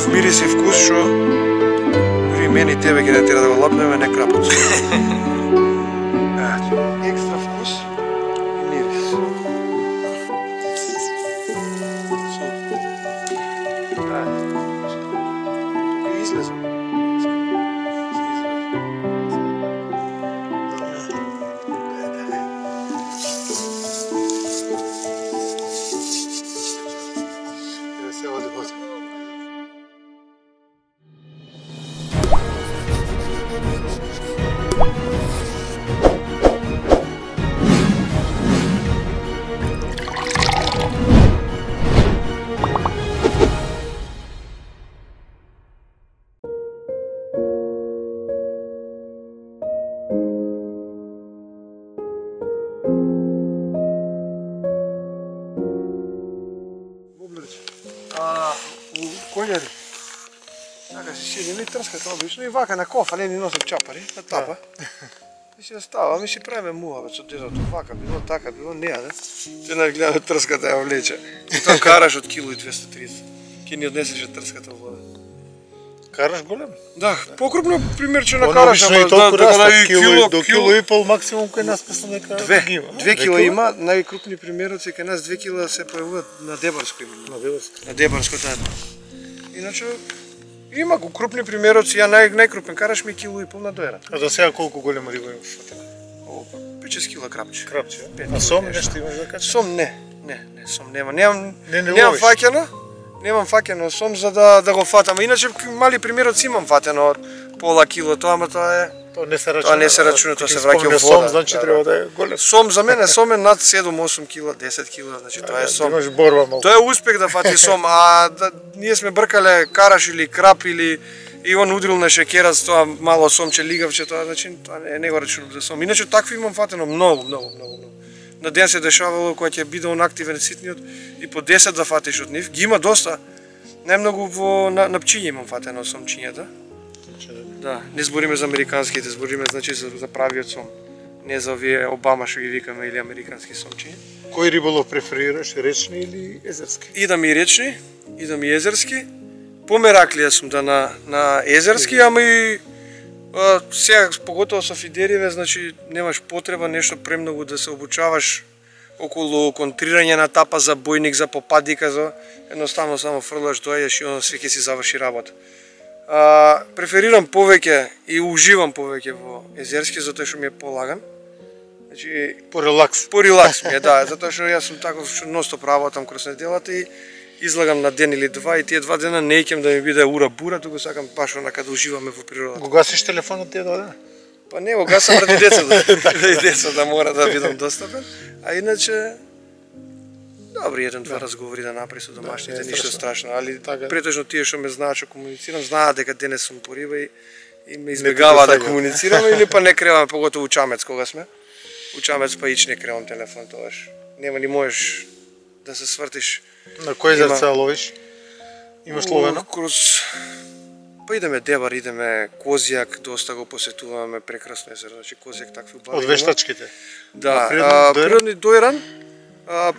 таков мирис и вкус што дури мене и тебе ќе не тера да го лапнеме, не крапот. Екстра вкус и мирис. Тука излезам. Конјари. Така си седим и трскат обично и вака на кофа, не ни носат чапари, на тапа. И си оставаме и си правиме муавет со дедото, вака било, така било, неа, да? Те нас гледаме трската ја влече. И тоа караш од кило и 230. Ке ни однесеше трската вода. Караш голем? Да, покрупно примерче на караш, ама да, до кило и пол максимум кај нас мислам дека ги има. 2 кила има, најкрупни примероци кај нас 2 кила се појавуваат на Дебарско има. На Дебарско, да. Иначе има го крупни примероци, ја најкрупен караш ми кило и пол на доера. А до сега колку голема риба има фатена? 5-6 кила крапче. Крапче, а сом нешто имаш да кажеш? Сом не, сом нема. Немам фаќено. Немам фаќено сом за да го фатам. Иначе мали примероци имам фатено од пола кило, ама тоа е тоа не се рачуна, тоа се враќа во вода. Сом значи треба да е голем. Сом за мене сом е над 7-8 кила, 10 кила, значи тоа е сом. Имаш борба малку. Тоа е успех да фати сом, а ние сме бркале караш или крап или и он удрил на шекерас, тоа мало сомче лигавче, тоа значи тоа не го рачунам за сом. Иначе такви имам фатено многу. На ден се дешавало кога ќе биде он активен ситниот и по 10 да фатиш од нив. Ги има доста. Најмногу на пчиња имам фатено сомчињата. Да, не збориме за американските, збориме значи за правиот сом. Не за овие Обама што ги викаме или американски сомчиња. Кој риболов преферираш, речни или езерски? Идам и речни, идам и езерски. Помераклија сум да на езерски, ама и сега поготово со фидериве, значи немаш потреба нешто премногу да се обучаваш околу контрирање на тапа за бојник, за попадика, за едноставно само фрлаш, доаѓаш и оно све ќе си заврши работа. Преферирам повеќе и уживам повеќе во езерски затоа што ми е полаган. Значи по релакс. По релакс ми е, да, затоа што јас сум таков што ностоп работам кроз неделата и излагам на ден или два и тие 2 дена не икем да ми биде ура-бура, туку сакам баш онака да уживаме во природата. Го гасиш телефонот тие 2 дена? Па не, го гасам ради децата, да мора да бидам достапен, а иначе добри еден-два разговори да направи со домашните, ништо страшно, али претежно тие што ме знаат што комуницирам, знаат дека денес сум по риба и ме избегава да комуницираме или па не креваме, поготово учамец кога сме. Учамец па ич не кревам телефон тогаш. Нема ни можеш да се свртиш. На кој езерца ловиш? Имаш ловено? Па идеме Дебар, идеме Козјак, доста го посетуваме, прекрасно езеро, значи Козјак такви убави. Од вештачките? Да, природни Дојран,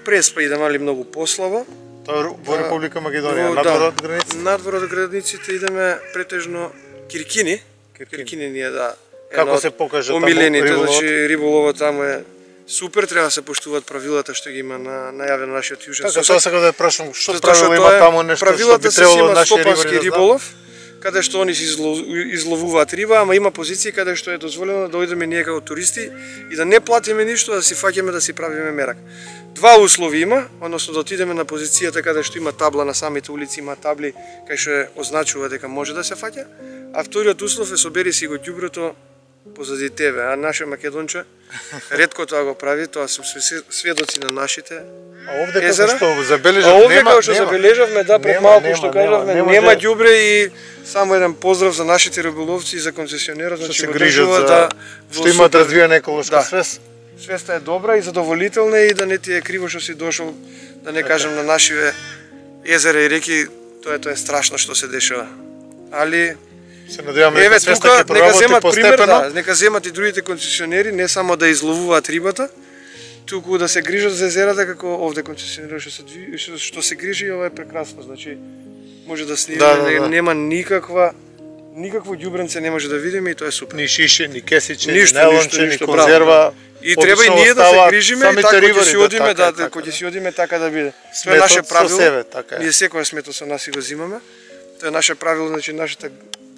Преспа идеме, али многу послабо. Тоа во Република Македонија, надвор од границите? Надвор од границите идеме претежно Киркини. Киркини ни е да како се покажа таму омилените, значи риболовот таму е супер, треба да се поштуваат правилата што ги има најавено на нашиот јужен сосед. Така, тоа сакам да ја прашам, што правило има таму нешто што би требало наши рибари да риболов, каде што они се изловуваат риба, ама има позиции каде што е дозволено да дојдеме ние како туристи и да не платиме ништо, да си фаќаме да си правиме мерак. Два услови има, односно да отидеме на позицијата каде што има табла на самите улици, има табли кај што означува дека може да се фаќа, а вториот услов е собери си го ѓуброто позади тебе, а наше македонче ретко тоа го прави, тоа сум сведоци на нашите езера. Овде како што забележавме, да, пред малку што кажавме, нема ѓубре и само еден поздрав за нашите риболовци и за концесионерот, значи го држува да што имаат развиена еколошка свест. Свеста е добра и задоволителна и да не ти е криво што си дошол, да не кажам на нашиве езера и реки, тоа е страшно што се дешава. Али се надеваме дека свеста ќе проработи постепено. Нека земат и другите концесионери не само да изловуваат рибата, туку да се грижат за езерата како овде концесионери што се грижи, ова е прекрасно, значи може да снимиме, нема никакво ѓубренце не може да видиме и тоа е супер. Ни шише, ни кесиче, ни Ништо, нелонче, ни ништо, конзерва. И треба и ние да се грижиме и така ќе си одиме, така, ќе си одиме така да биде. Тоа е наше правило. Така е. Ние секој смето со нас и го земаме. Тоа е наше правило, значи нашата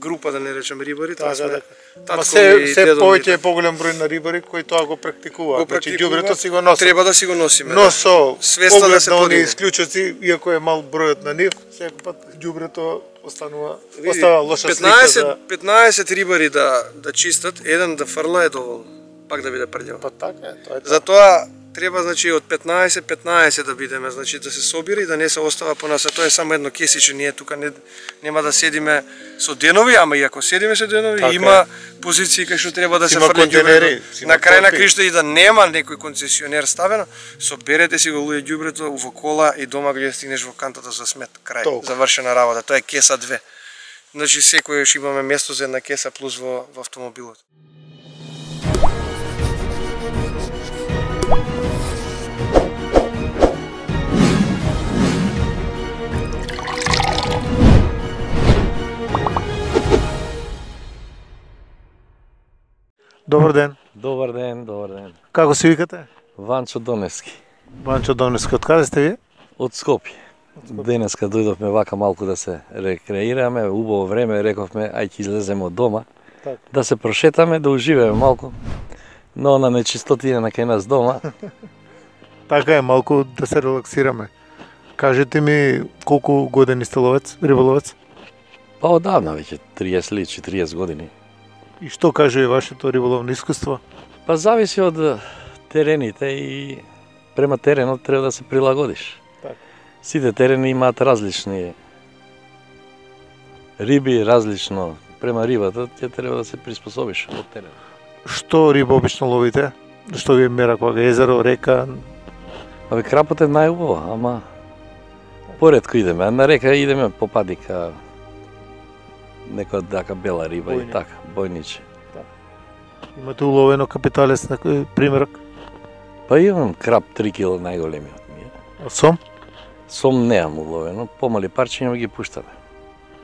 група, да не речем рибари, тоа сме татко и се дедо. повеќе е поголем број на рибари кои тоа го практикуваат. Значи ѓубрето си го носат. Треба да си го носиме. Но со свеста да се оние подиме. исклучоци, иако е мал бројот на нив, секој пат ѓубрето остава лоша слика 15 рибари да чистат, еден да фрла е доволно. Пак да биде прљаво. Па така е, тоа е. Затоа треба, значи, од 15 да бидеме, значи да се собира и да не се остава по нас. Тоа е само едно кесиче, ние тука нема да седиме со денови, ама и ако седиме со денови, така има позиции кај што треба да се фрли ѓубрето. На крај на кришта и да нема некој концесионер ставено, соберете си го луѓе ѓубрето во кола и дома кога стигнеш во кантата за смет, крај, завршена работа. Тоа е кеса 2. Значи секој ќе имаме место за една кеса плюс во автомобилот. Добар ден. Добар ден, добар ден. Како се викате? Ванчо Доневски. Ванчо Доневски, од каде сте вие? Од Скопје. Денеска дојдовме вака малку да се рекреираме, убаво време, рековме ај ќе излеземе од дома, да се прошетаме, да уживаме малку. Но на нечистотина на кај нас дома. Така е, малку да се релаксираме. Кажете ми колку години сте ловец, риболовец? Па одавна веќе 30 години. И што кажува вашето риболовно искуство? Па зависи од терените и према теренот треба да се прилагодиш. Така. Сите терени имаат различни риби, различно према рибата, ќе треба да се приспособиш од теренот. Што риба обично ловите? Што ви мера кога езеро, река? Абе крапот е најубаво, ама поретко идеме, а на река идеме по падика, некоја дака бела риба и така, бојниче. Имате уловено капиталец некој примерок? Па имам крап 3 кг најголемиот ми е. А сом? Сом неам уловено, помали парчиња ги пуштаме.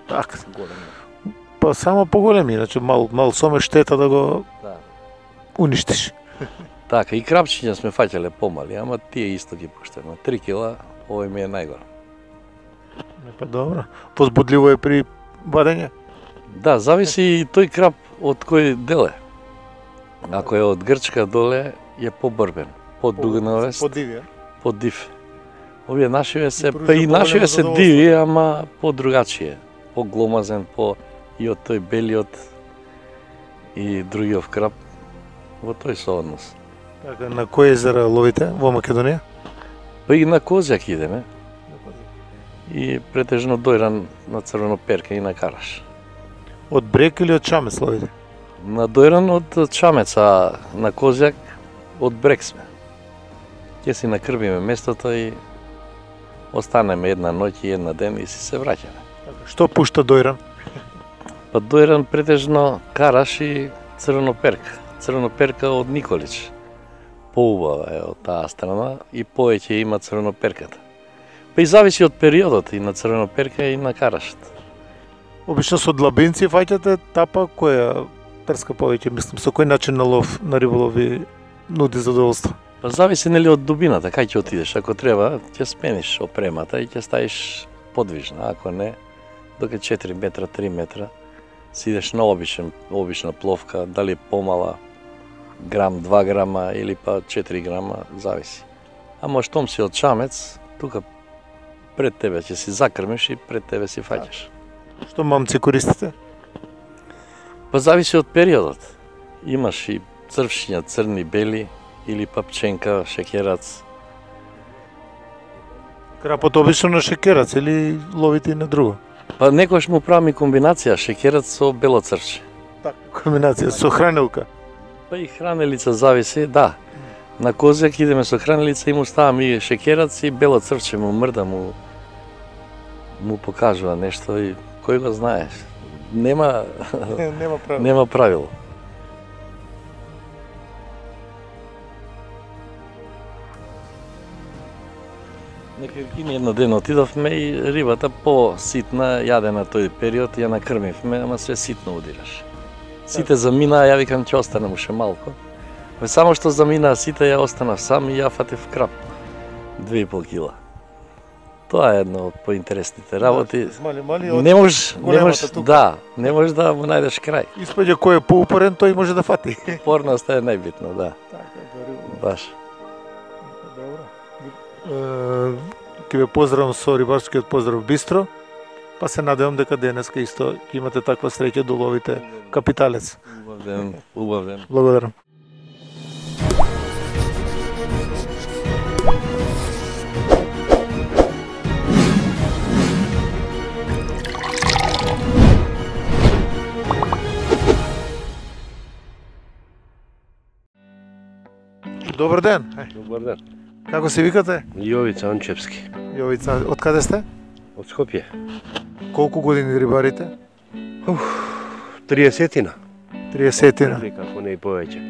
Така. Па само поголеми, значи мал сом е штета да го уништиш. Така, и крапчиња сме фаќале помали, ама тие исто ги пуштаме. 3 кг, овој ми е најголем. Па добро. Возбудливо е при вадење? Да, зависи и тој крап од кој дел е. Ако е од Грчка доле, е побрбен, подугнавест, подив. Овие нашиве се, па и нашиве се диви, ама подругачие, погломазен, и од тој белиот и другиот крап, во тој сооднос. Така, на кој езера ловите во Македонија? Па и на Козјак идеме. И претежно дојран на Црвеноперка и на Караш. Од брег или од Чамец ловите? На дојран од Чамец, а на Козјак од брег сме. Ќе си накрбиме местото и останеме една ноќ и една ден и си се враќаме. Што пушта дојран? Па дојран претежно Караш и Црвеноперка. Црвеноперка од Николич. Поубава е од таа страна и повеќе има Црвеноперката. Па и зависи од периодот и на Црвеноперка и на Карашот. Обично со длабинци фаќате тапа, која трска повеќе, мислам, со кој начин на лов, на риболов ви нуди задоволство? Па зависи нели од дубината, кај ќе отидеш. Ако треба, ќе смениш опремата и ќе ставиш подвижна, ако не, доке 4 метра, 3 метра, си идеш на обична пловка, дали помала, грам, 2 грама или па 4 грама, зависи. Ама штом си од Чамец, тука пред тебе ќе си закрмиш и пред тебе си фаќаш. Што мамци користите? Па зависи од периодот. Имаш и црвшиња, црни, бели, или па пченка, шекерац. Крапот обично на шекерац или ловите и на друго? Па некојаш му правиме комбинација шекерац со бело црвче. Така, комбинација со хранилка. Па и хранелица зависи, да. На Козјак идеме со хранелица и му ставам и шекерац и бело црвче, му мрда, му покажува нешто и кој го знаеш. Нема правило. Нема правило. Некако ни едно ден отидовме и рибата по-ситна, јадена тој период, ја накрмивме, ама све ситно удираш. Сите заминаа, ја викам ќе останем уште малку. Само што заминаа сите, ја останав сам и ја фатив крап. 2,5 кила. Тоа е едно од поинтересните работи. Не можеш, не можеш да му најдеш крај. Испаѓа кој е поупорен, тој може да фати. Упорноста е најбитно, да. Баш. Ќе ве поздравам со рибарскиот поздрав Бистро, па се надевам дека денеска исто ќе имате таква среќа да уловите капиталец. Убав ден, убав ден. Благодарам. Добар ден. Добар ден. Како се викате? Јовица Анчевски. Јовица, од каде сте? Од Скопје. Колку години рибарите? 30-тина. 30-тина. Или како не и повеќе.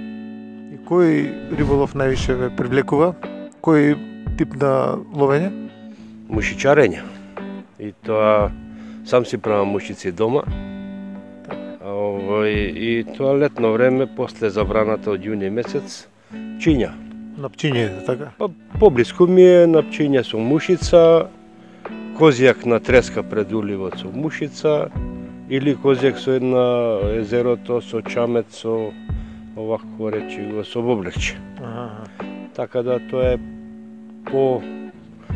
И кој риболов највише ве привлекува? Кој тип на ловење? Мушичарење. И тоа сам си правам мушици дома. И тоа летно време, после забраната од јуни месец, пчиња. На пчиње, така? Па поблиску ми е на пчиња со мушица, козјак на треска пред уливот со мушица, или козјак со една езерото, со чамет, со овако речи го, со воблерче. Така да тоа е по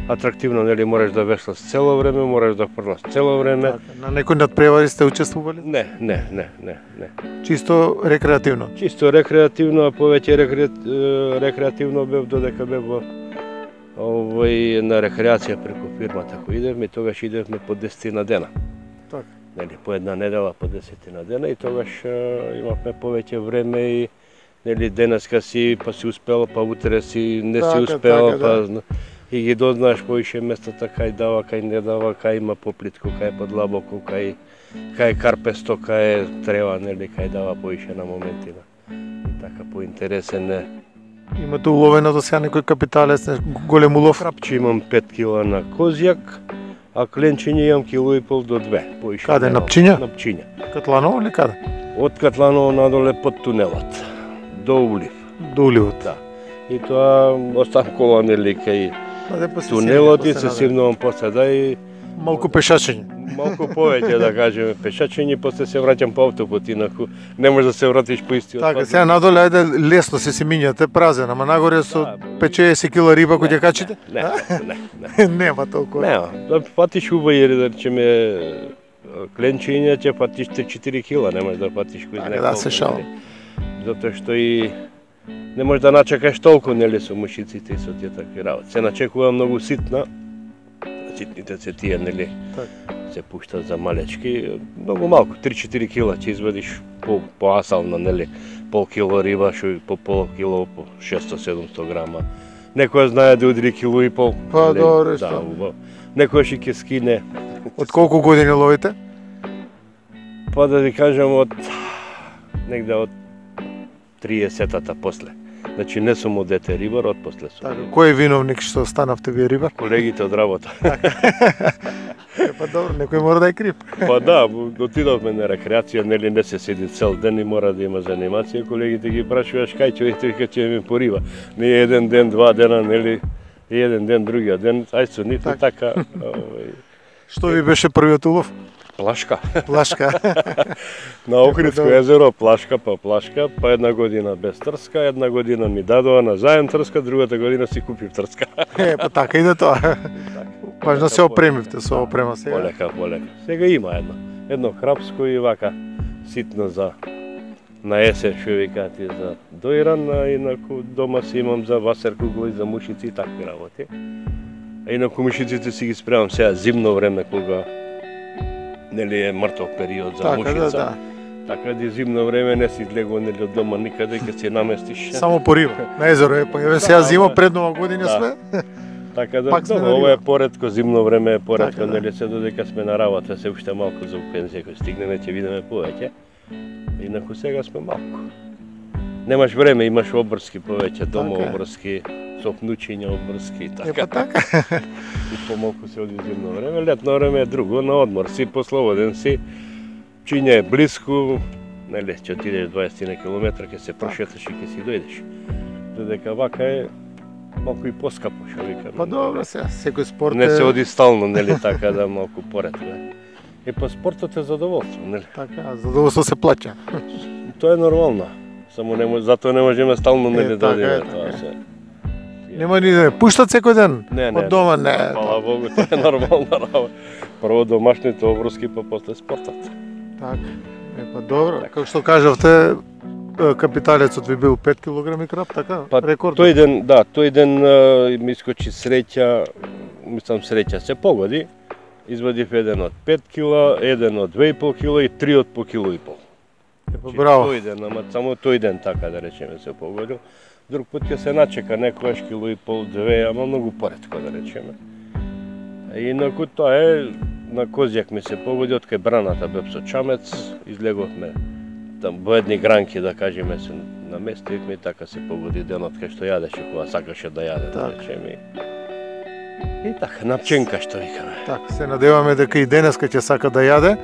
атрактивно, нели, можеш да веслаш цело време, можеш да фрлаш цело време. На некој надпревари сте учествували? Не. Чисто рекреативно? Чисто рекреативно, а повеќе рекреативно бев додека бев на рекреација преку фирмата кој идевме, и тогаш идевме по 10 дена. Така. Нели, по една недела, по 10 дена, и тогаш имавме повеќе време и нели денеска си, па си успел, па утре си не си успел, па и ги дознаеш поише местата кај дава, кај не дава, кај има поплитко, кај подлабоко, кај карпесто, кај трева, нели, кај дава поише на моментина. И така поинтересен е. Имате уловено до сега некој капиталец, голем улов? Крапче имам 5 кила на козјак, а кленчиња имам 1,5 до 2. Поише каде, на пчиња? На пчиња. Катланово или каде? Од Катланово надоле под тунелот, до улив. До уливот? Да. И тоа останкова, нели, кај тунелот и се симнувам после, да, и малку пешачење. Малку повеќе, да кажеме, пешачење, после се враќам по автопот, инаку не можеш да се вратиш по истиот пат. Така, сега надоле, ајде, лесно се минјате, празен, ама нагоре со 50 кила риба кој ќе качите? Не. Нема толку. Нема, да патиш убави, да речеме, кленчиња, ќе патиш 3-4 кила, не можеш да патиш кој знае колку. Да, се шалам. Затоа што и не можеш да начекаш толку, нели, со мушиците и со тие такви работи. Се начекува многу ситна, ситните се тие, нели, се пуштат за малечки, многу малку, 3-4 кила ќе извадиш по асална, нели, пол кило риба, шо по пол кило, по 600-700 грама. Некој знае да удри кило и пол. Па добро, да, некој ќе скине. Од колку години ловите? Па да ви кажам, од негде од 30-та после. Значи не сум од дете рибар, од после сум. Така, кој е виновник што станавте вие рибар? Колегите од работа. Па добро, некој мора да е крив. Па да, отидовме на рекреација, нели не се седи цел ден и мора да има занимација. Колегите ги прашуваш кај ќе вика ќе ми пориба. Не еден ден, 2 дена, нели, еден ден, другиот ден, ај со нито така. Што ви беше првиот улов? Плашка. Плашка. На Охридско езеро плашка, па една година без трска, една година ми дадоа на заем трска, другата година си купив трска. Па така иде тоа. Важно се опремивте со опрема сега. Полека. Сега има едно храпско и вака ситно за на есен, што викаат, за доиран, а инаку дома си имам за васер кугли, за мушици и такви работи. А инаку мушиците си ги спремам сега зимно време, кога нели е мртов период за мушица. Така да зимно време не си излегува нели од дома никаде, ќе се наместиш. Само по риба. На езеро е, па еве сега зима пред Нова година сме. Така да, ова е поредко, зимно време е поредко, нели се додека сме на работа, се уште малку за пензија, кој стигнеме ќе видиме повеќе. Инаку сега сме малку. Немаш време, имаш обврски повеќе, дома Така е. обврски, со внучиња обврски и така. Епа така. И помалку се оди зимно време, летно време е друго, на одмор си, послободен си, чинја е блиску, нели, ќе отидеш 20 километра, ќе се прошеташ и ќе си дојдеш. Додека вака е малку и поскапо, што викам. Па добро сега, секој спорт Не се е оди стално, нели, така да малку поред, не? И па спортот е задоволство, нели? така, задоволство се плаќа. Тоа е нормално. Само не може, затоа не можеме стално, нели, да така е, одиме тоа така е. се. Нема ни да пуштат секој ден Не, од дома, не. Фала Богу, тоа е нормална работа. Прво домашните обврски, па после спортот. Така. Епа добро, како што кажавте, капиталецот ви бил 5 килограми крап, така? Па Рекорд. тој ден ми искочи среќа, мислам среќа се погоди. Извадив еден од 5 кила, еден од 2,5 кила и 3 од по кило и пол. Епа браво. Тој ден, ама само тој ден така да речеме се погодил. Друг пат ќе се начека некојаш кило и пол, 2, ама многу поретко да речеме. И инаку тоа е, на Козјак ми се погоди, од кај браната бев со чамец, излеговме там во едни гранки, да кажеме, се наместивме и така се погоди денот кај што јадеше, кога сакаше да јаде, да Така. речеме. И така, напченка што викаме. Така, се надеваме дека и денеска ќе сака да јаде,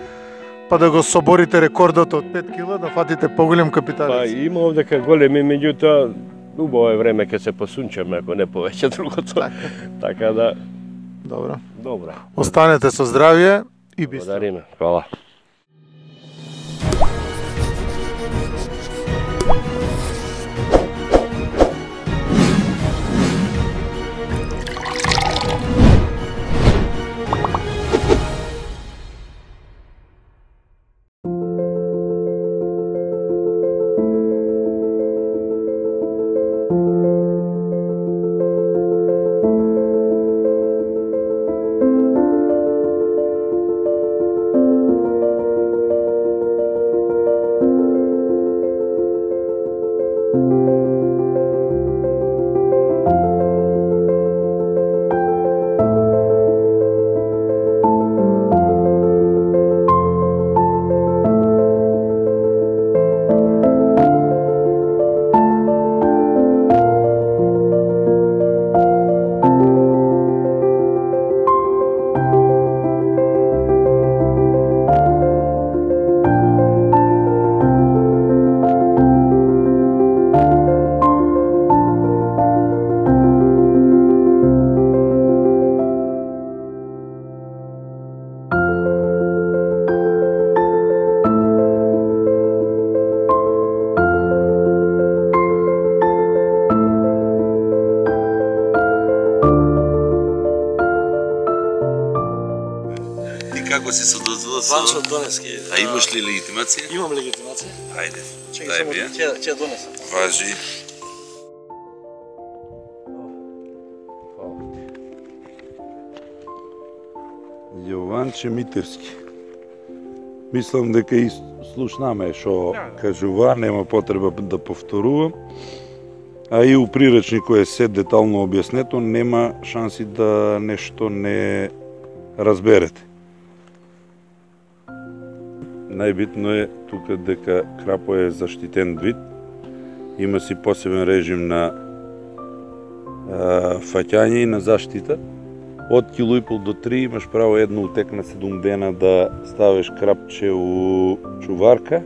па да го соборите рекордот од 5 кила, да фатите поголем Па капиталец. има овдека големи, меѓутоа, убаво е време ке се посунчаме, ако не повеќе другото. Така. Така да, Добро. добре. Останете со здравје и бистро. Благодариме. Хвала. Како си со дозвола? Ванчо Донески. А имаш ли легитимација? Имам легитимација. Ајде, Чекај дај само ми ја. ќе ја донесам. Важи. Јованче Митерски. Мислам дека и слушнаме што кажува, нема потреба да повторувам. А и у приречникот е се детално објаснето, нема шанси да нешто не разберете. Најбитно е тука дека крапо е заштитен вид, има си посебен режим на фаќање и на заштита. Од кило и пол до 3 имаш право едно утек на 7 дена да ставиш крапче у чуварка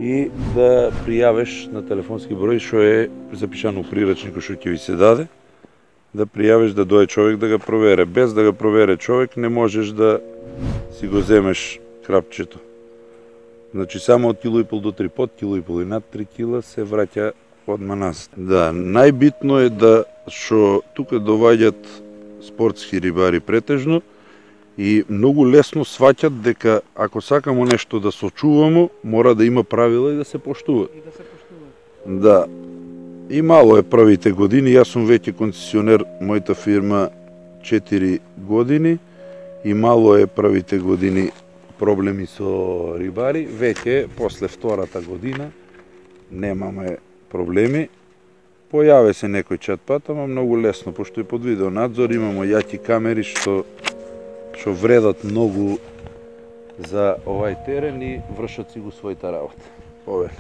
и да пријавиш на телефонски број што е запишано у приречникот што ќе ви се даде, да пријавиш да дое човек да го провере. Без да го провере човек не можеш да си го земеш крапчето. Значи само од кило и пол до 3, под кило и пол и над 3 кила се враќа одма назад. Да, најбитно е да што тука доваѓаат спортски рибари претежно и многу лесно сваќат дека ако сакамо нешто да сочувамо, мора да има правила и да се поштува. Да. И мало е првите години, јас сум веќе концесионер, мојата фирма 4 години и мало е првите години проблеми со рибари, веќе после втората година немаме проблеми. Појаве се некој чат-пат, ама многу лесно, пошто и под видеонадзор имамо јаки камери што вредат многу за овај терен и вршат си го својата работа. Ове.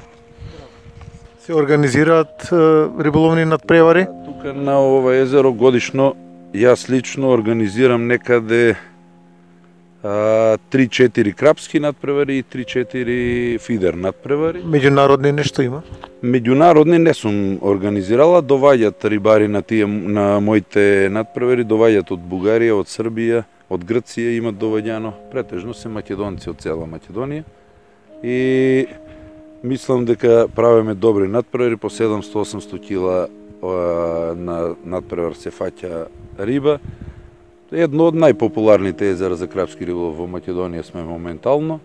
Се организираат риболовни надпревари? Тука на ова езеро годишно јас лично организирам некаде 3-4 крапски надпревари и 3-4 фидер надпревари. Меѓународни нешто има? Меѓународни не сум организирала, доваѓат рибари на моите надпревари, доваѓат од Бугарија, од Србија, од Грција имат доваѓано, претежно се македонци од цела Македонија. И мислам дека правиме добри надпревари, по 700-800 кила на надпревар се фаќа риба. Едно од најпопуларните езера за крапски риболов во Македонија сме моментално.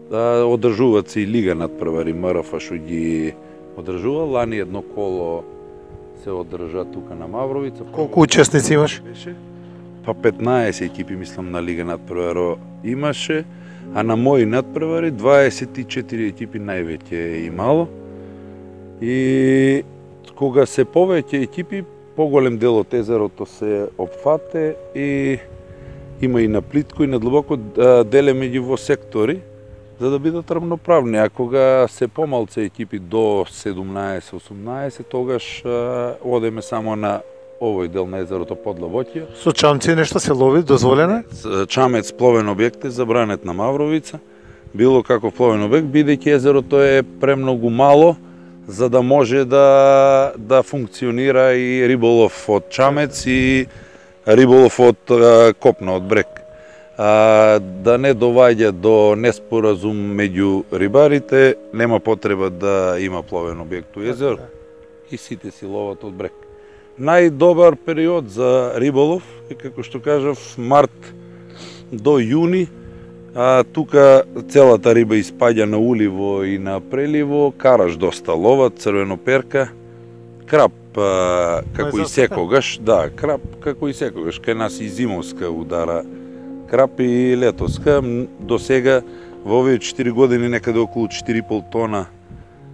Одржуваат се и лига надпревари, МРФ што ги одржува. Лани едно коло се одржа тука на Мавровица. Колку учесници имаш? Па 15 екипи мислам на лига надпреваро имаше, а на мои надпревари 24 екипи највеќе имало. И кога се повеќе екипи, поголем дел од езерото се опфате и има и на плитко и на длабоко, делеме ги во сектори за да бидат рамноправни. А кога се помалце екипи до 17-18, тогаш одеме само на овој дел на езерото Подлабоќија. Со чамци нешто се лови, дозволено? Чамец пловен објект е забранет на Мавровица. Било каков пловен објект, бидејќи езерото е премногу мало за да може да функционира и риболов од чамец и риболов од копна, од брег. Да не доваѓа до неспоразум меѓу рибарите, нема потреба да има пловен објект у езеро и сите си ловат од брег. Најдобар период за риболов е, како што кажав, март до јуни. Тука целата риба испаѓа на уливо и на преливо, караш доста ловат, црвеноперка, крап како и секогаш, крап како и секогаш, кај нас и зимовска удара крап и летоска. До сега во овие 4 години некаде околу 4,5 тона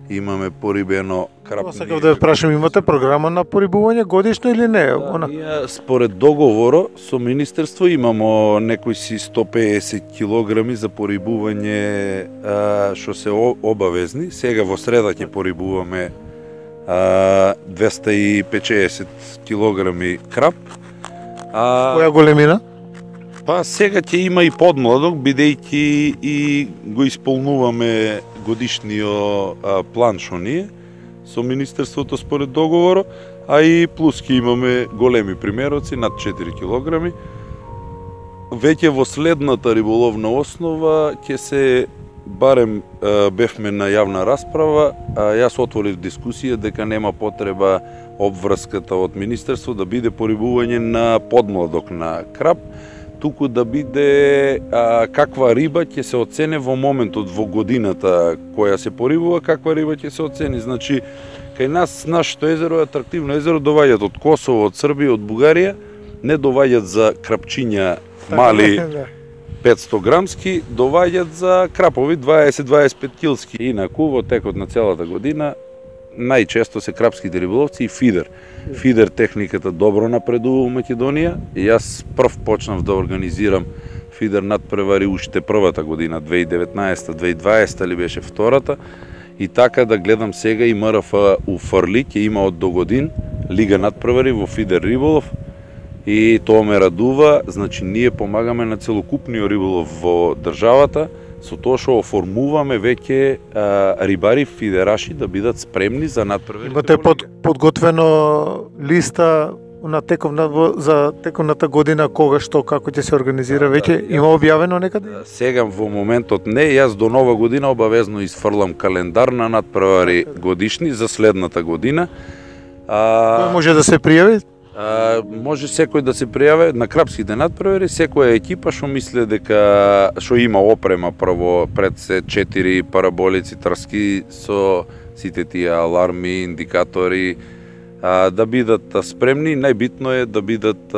имаме порибено крап. Сакав да ве прашам, имате програма на порибување годишно или не? Ние според договоро со Министерство имамо некои си 150 килограми за порибување што се обавезни. Сега во среда ќе порибуваме 250 килограми крап. Која големина? Па сега ќе има и подмладок, бидејќи и го исполнуваме годишниот план што ние со Министерството според договоро, а и плюс ќе имаме големи примероци над 4 килограми. Веќе во следната риболовна основа ќе се, барем бевме на јавна расправа, јас отворив дискусија дека нема потреба обврската од Министерство да биде порибување на подмладок на крап, туку да биде каква риба ќе се оцене во моментот во годината која се порибува, каква риба ќе се оцени. Значи, кај нас, нашето езеро е атрактивно езеро, доваѓат од Косово, од Србија, од Бугарија, не доваѓат за крапчиња мали 500 грамски, доваѓат за крапови 20-25 килски. Инаку, во текот на целата година, најчесто се крапските риболовци и фидер. Фидер техниката добро напредува во Македонија. Јас прв почнав да организирам фидер надпревари уште првата година, 2019-2020 ли беше втората. И така да гледам сега и МРФ уфрли, ќе има од до годин лига надпревари во фидер риболов. И тоа ме радува, значи ние помагаме на целокупниот риболов во државата, со тоа што оформуваме веќе рибари фидераши да бидат спремни за надпреварите. Имате подготвено листа на за тековната година, кога, што, како ќе се организира веќе? Има објавено некаде? Сега во моментот не, јас до нова година обавезно изфрлам календар на надпревари годишни за следната година. Кој може да се пријави? Може секој да се пријави на крапските надпревари, секоја екипа што мисле дека што има опрема прво пред се 4 параболици трски со сите тие аларми, индикатори, да бидат спремни. Најбитно е да бидат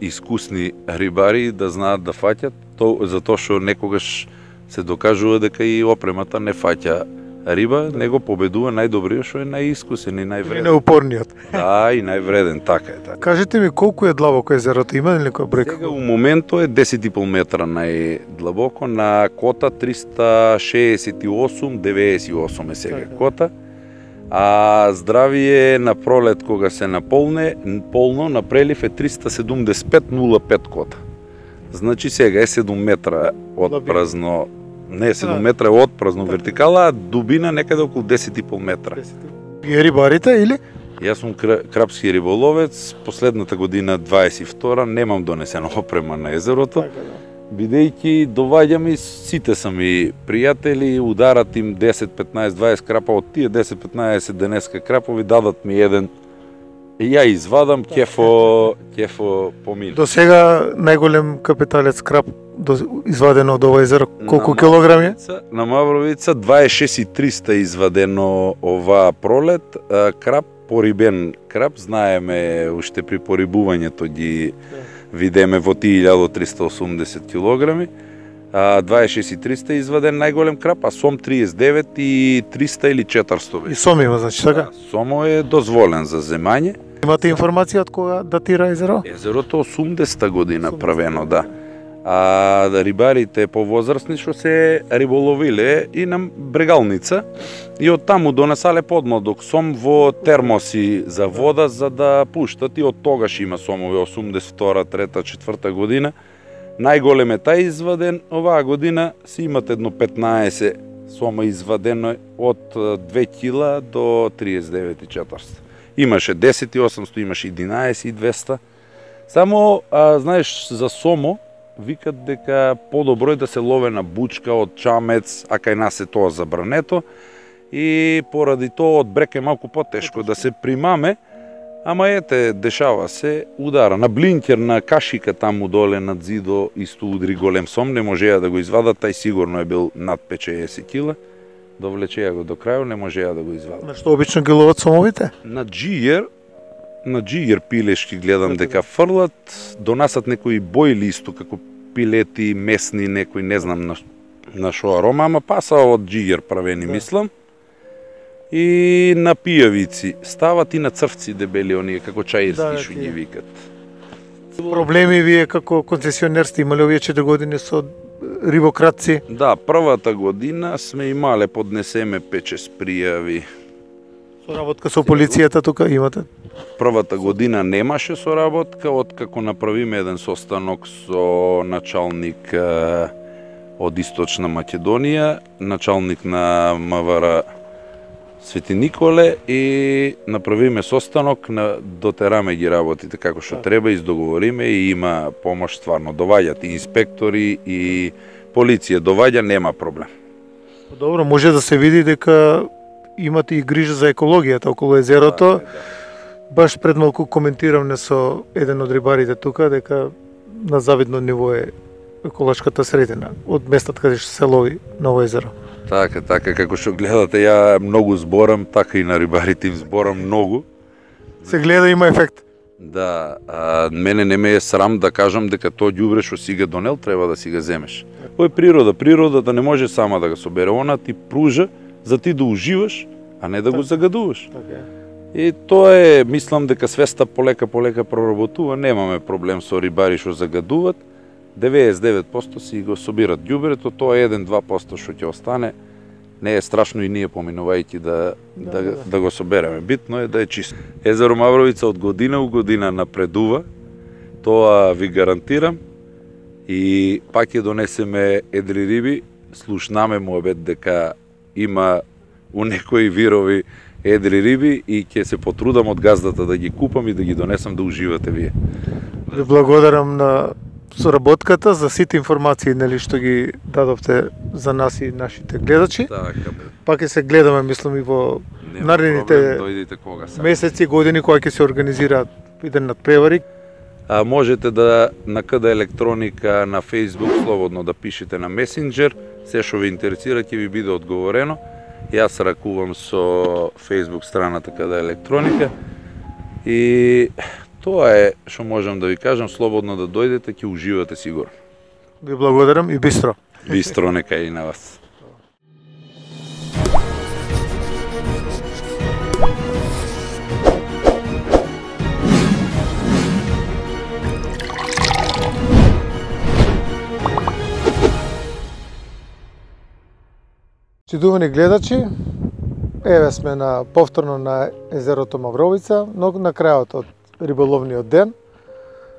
искусни рибари, да знаат да фаќат, затоа што некогаш се докажува дека и опремата не фаќа риба, него победува најдобриот што е најискусен и највреден. И најупорниот. Да, и највреден, така е. Така. Кажете ми, колку е длабоко езерото, има ли некоја бројка? Сега у моментот е 10,5 метра најдлабоко, на кота 368-98 е сега кота. А здравие на пролет кога се наполне, полно на прелив е 375,05 кота. Значи сега е 7 метра од празно, не 7 метра од празно вертикала, а дубина некаде околу 10,5 метра. Вие рибарите или? Јас сум крапски риболовец, последната година 22 немам донесена опрема на езерото, бидејќи доваѓам и сите са ми пријатели, ударат им 10, 15, 20 крапа, од тие 10-15 денеска крапови дадат ми еден и ја извадам, кефо помина. До сега најголем капиталец крап извадено од ова езеро, колку килограми е? На Мавровица 26,300 извадено оваа пролет, крап, порибен крап, знаеме уште при порибувањето ги видеме во тие 1380 килограми, 26,300 изваден најголем крап, а сом 39,300 или 400. И сом има, значи, така? Сомо е дозволен за земање. Имате информација од кога датира езеро? Езерото 80-та година правено, да. А рибарите повозрастни што се риболовиле и на брегалница и од таму донесале подмладок сом во термоси за вода за да пуштат и од тогаш има сомови 82, 3, 4 година. Најголем е тај изваден, оваа година си имат едно 15 сома извадено од 2 кила до 39,400. Имаше 10,800, имаше 11,200. Само, знаеш, за сомо, викат дека подобро е да се лове на бучка од чамец, а кај нас е тоа забрането. И поради тоа од брек е малку потешко да се примаме, ама ете, дешава се, удара. На блинкер, на кашика таму доле над зидо, исто удри голем сом, не можеа да го извадат, тај сигурно е бил над 50 кила. Довлечеа го до крајот, не можеа да го извадат. На што обично ги ловат сомовите? На джиер пилешки гледам дека фрлат, донасат некои бојли исто како пилети, месни, некои не знам на шо арома, ама паса од джиер правени, мислам. И на пијавици, стават и на црвци дебели, оние како чаирски што ги викат. Проблеми вие како концесионер сте имале овие 4 години со рибократци? Да, првата година сме имале, поднесеме 5-6 пријави. Соработка со полицијата тука имате? Првата година немаше соработка, откако направиме еден состанок со началник од Источна Македонија, началник на МВР Свети Николе и направиме состанок, дотераме ги работите како што треба, издоговориме и има помош стварно. Доваѓат и инспектори и полиција, доваѓа, нема проблем. Добро, може да се види дека имате и грижа за екологијата околу езерото. Баш пред малку коментиравме со еден од рибарите тука дека на завидно ниво е еколошката средина од местата каде што се лови на ово езеро. Така, како што гледате, ја многу зборам, така и на рибарите им зборам многу. Се гледа, има ефект. Да, мене не ме е срам да кажам дека тоа ѓубре што си го донел треба да си го земеш. Тоа е природа, природата не може сама да го собере, она ти пружа за ти да уживаш, а не да го загадуваш. И тоа е, мислам дека свеста полека проработува, немаме проблем со рибари што загадуват. 99% си го собират ѓубрето, тоа е 1-2% што ќе остане. Не е страшно и ние поминувајќи да го собереме. Битно е да е чисто. Езеро Мавровица од година у година напредува, тоа ви гарантирам. И пак ќе донесеме едри риби, слушнаме муабет дека има у некои вирови едри риби и ќе се потрудам од газдата да ги купам и да ги донесам да уживате вие. Ви благодарам на соработката за сите информации нели што ги дадовте за нас и нашите гледачи. Пак ќе се гледаме, мислам, и во наредните месеци, години кога ќе се организираат иден надпревари. Можете да на КД електроника на Facebook слободно да пишете на месенџер, се што ве интересира ќе ви биде одговорено. Јас ракувам со Facebook страната КД електроника и тоа е што можам да ви кажам, слободно да дојдете, ќе уживате сигурно. Ви благодарам и бистро. Бистро нека и на вас. Читувани гледачи, Еве сме повторно на езерото Мавровица, но на крајот од риболовниот ден.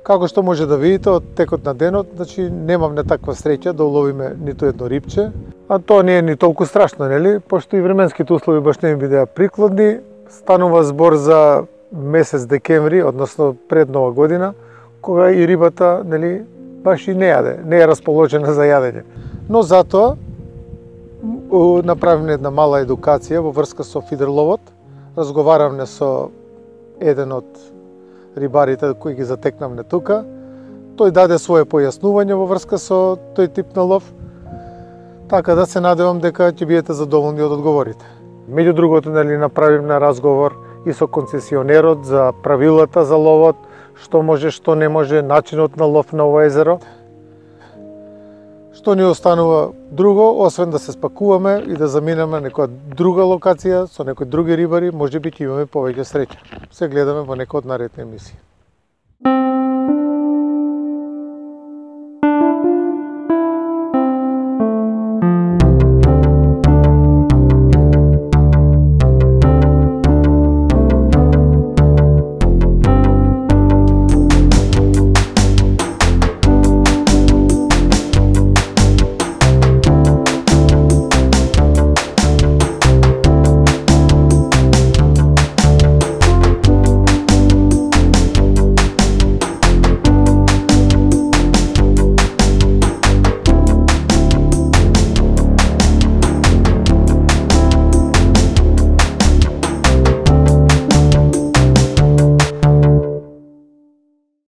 Како што може да видите од текот на денот, значи немам таква среќа да уловиме ниту едно рибче, а тоа не е ни толку страшно, нели? Пошто и временските услови баш не ми бидеа прикладни, станува збор за месец декември, односно пред Нова година, кога и рибата, нели, баш и не јаде, не е расположена за јадење. Но затоа направивме една мала едукација во врска со фидерловот. Разговаравме со еден од рибарите кои ги затекнавме тука. Тој даде свое појаснување во врска со тој тип на лов. Така да се надевам дека ќе бидете задоволни од одговорите. Меѓу другото, нели, направивме разговор и со концесионерот за правилата за ловот, што може, што не може, начинот на лов на ова езеро. Што ни останува друго, освен да се спакуваме и да заминеме некоја друга локација со некои други рибари, можеби ќе имаме повеќе среќа. Се гледаме во некој од наредни емисии.